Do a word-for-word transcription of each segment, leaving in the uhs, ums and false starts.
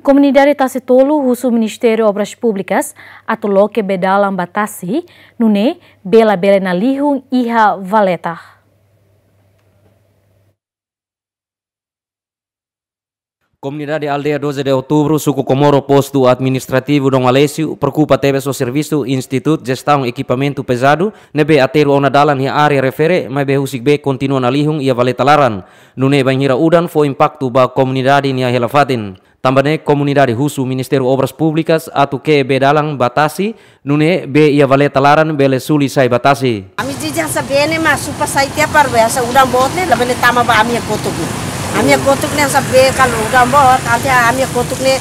Komunidade Tasi Tolu husu Ministériu Obras Públikas atu loke bee dalan ba tasi, nune'e bee labele nalihun iha valeta. Komunidade Aldeia doze de Outubro, Suku Comoro, Postu Administrativu Dom Aleixo, preokupa tebes ho servisu Institutu Jestaun Ekipamentu Pezadu ne'ebé aterru ona dalan iha área refere, maibé husik bee kontinua nalihun iha valeta laran. Nune'e bainhira udan fó impaktu ba komunidade nia hela-fatin. Tanba ne'e komunidade husu Ministériu Obras Públikas atu ke'e bee dalan ba tasi, nune'e bee iha valeta laran bele suli sai ba tasi. Ami jiji hanesan bee ne'e mak supa sai tiha para bee, hanesan udan boot ne'e labele tama ba ami-nia kotuk ne'e. Ami-nia kotuk ne'e hanesan bee kalau udan boot, ante ami-nia kotuk ne'e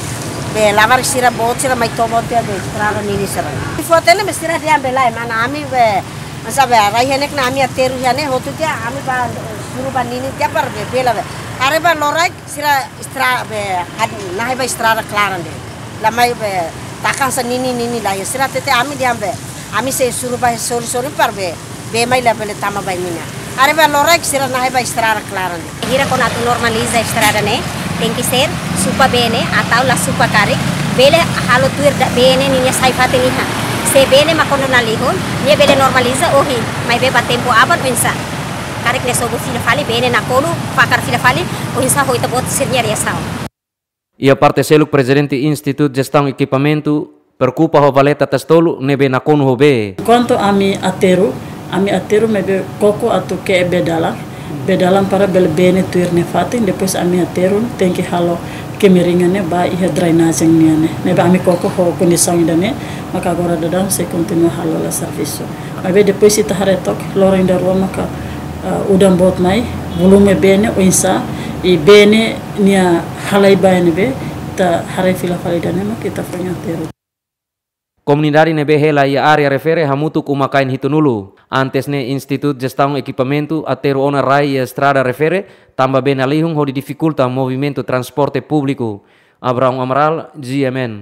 bee labarik sira boot sira mai toba tiha bee estrada ninin sira. Fó tiha ne'e bee sira dehan bee lae, mana ami bee, hanesan bee rai henek na ami aterru iha ne'e hotu tiha ami ba suru ba ninin tiha para bee bee labele. Haree ba loraik sira estra bee had-, nahe ba estrada klaran de'it. La mai bee taka hanesan ninin ninin la iha sira hatete ami dehan bee. Ami sei suru ba sori-sori para bee bee mai labele tama ba imi-nia. Haree ba loraik sira nahe ba estrada klaran de'it. Bainhira kona atu normaliza estrada ne'e, tenke ser supa bee ne'e, atau la supa karik, bele halo tuir da bee ne'e ninia sai fatin iha. Se bee ne'e mak kona nalihun, nia bele normaliza ohin, maibé ba tempu aban oinsá. Karik nia sobu fila fali, bee ne'e nakonu, fakar fila fali, oinsá ho ita-boot sira-nia reasaun. Iha parte seluk Prezidente Institutu Jestaun Ekipamentu preokupa ho valeta Tasi Tolu ne'ebé nakonu ho bee. Kuandu ami aterru, ami aterru maibé koko atu ke'e bee dalan, bee dalan para bele bee ne'e tuir nia fatin, depois ami aterru tenke halo kemiringan ne'e ba iha drenajen nian ne'e. Ne'ebé ami koko ho kondisaun ida-ne'e, maka agora daudaun sei kontinua halo la servisu. Maibé depois ita haree took, loron ida rua maka, ah, udan boot mai, volume bee ne'e oinsá, i bee ne'e nia halai ba ne'ebé, ita haree fila fali ida-ne'e maka ita foin aterru. Komunidade ne'ebé hela iha área refere hamutuk uma-kain hitunulu. Antes ne'e Institutu Jestaun Ekipamentu aterru ona rai iha estrada refere, tanba bee nalihun hodi difikulta movimentu transporte públiku. Abraão Amaral, G M N.